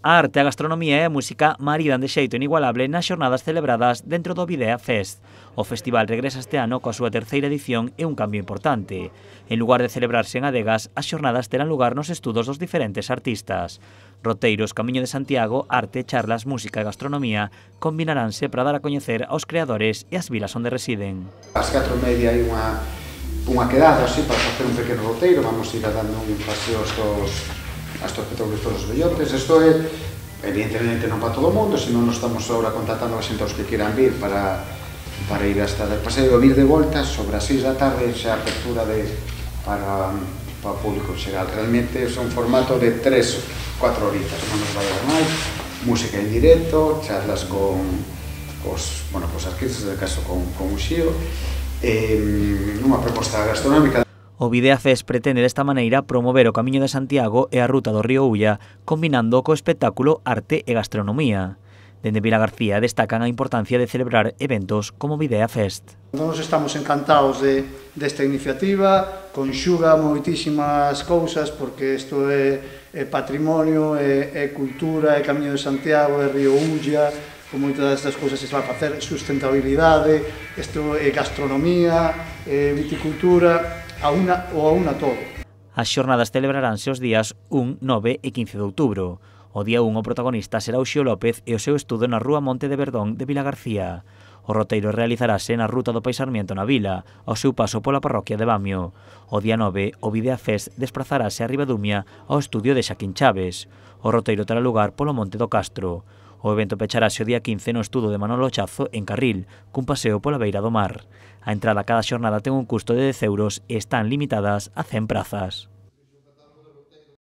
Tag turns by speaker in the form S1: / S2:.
S1: A arte, a gastronomía e a música maridan de xeito inigualable nas xornadas celebradas dentro do Videa Fest. O festival regresa este ano coa súa terceira edición e un cambio importante. En lugar de celebrarse en adegas, as xornadas terán lugar nos estudos dos diferentes artistas. Roteiros, Camiño de Santiago, arte, charlas, música e gastronomía combinaránse para dar a coñecer aos creadores e as vilas onde residen.
S2: Ás 4:30 hai unha quedada así para facer un pequeno roteiro, vamos ir dando un paseo a estos petroglifos vellotes. Isto é, evidentemente, non para todo o mundo, senón nos estamos agora contactando a xente aos que quieran vir para ir hasta o paseo, vir de volta sobre as 6 da tarde, xa a apertura para o público xeral. Realmente é un formato de 3-4 horitas, non nos vai dar máis, música en directo, charlas con os artistas, de caso con Uxío, unha proposta gastronómica.
S1: O Videa Fest pretende desta maneira promover o Camiño de Santiago e a ruta do río Ulla, combinando co espectáculo arte e gastronomía. Dende Vilagarcía destacan a importancia de celebrar eventos como Videa Fest.
S3: Nós estamos encantados desta iniciativa, conxuga moitísimas cousas porque isto é patrimonio, é cultura, é Camiño de Santiago, é río Ulla, con moitas destas cousas se vai facer sustentabilidade, isto é gastronomía, é viticultura, a una todo.
S1: As xornadas celebraránse os días 1, 9 e 15 de outubro. O día 1 o protagonista será Uxío López e o seu estudo na Rúa Monte de Verdón de Vilagarcía. O roteiro realizarase na ruta do Pai Sarmiento na vila, ao seu paso pola parroquia de Bamio. O día 9, o Videa Fest desplazarase a Ribadumia ao estudio de Xaquín Chaves. O roteiro terá lugar polo Monte do Castro. O evento pecharase o día 15 no estudo de Manolo Chazo en Carril, cun paseo pola beira do mar. A entrada a cada xornada ten un custo de 10 € e están limitadas a 100 prazas.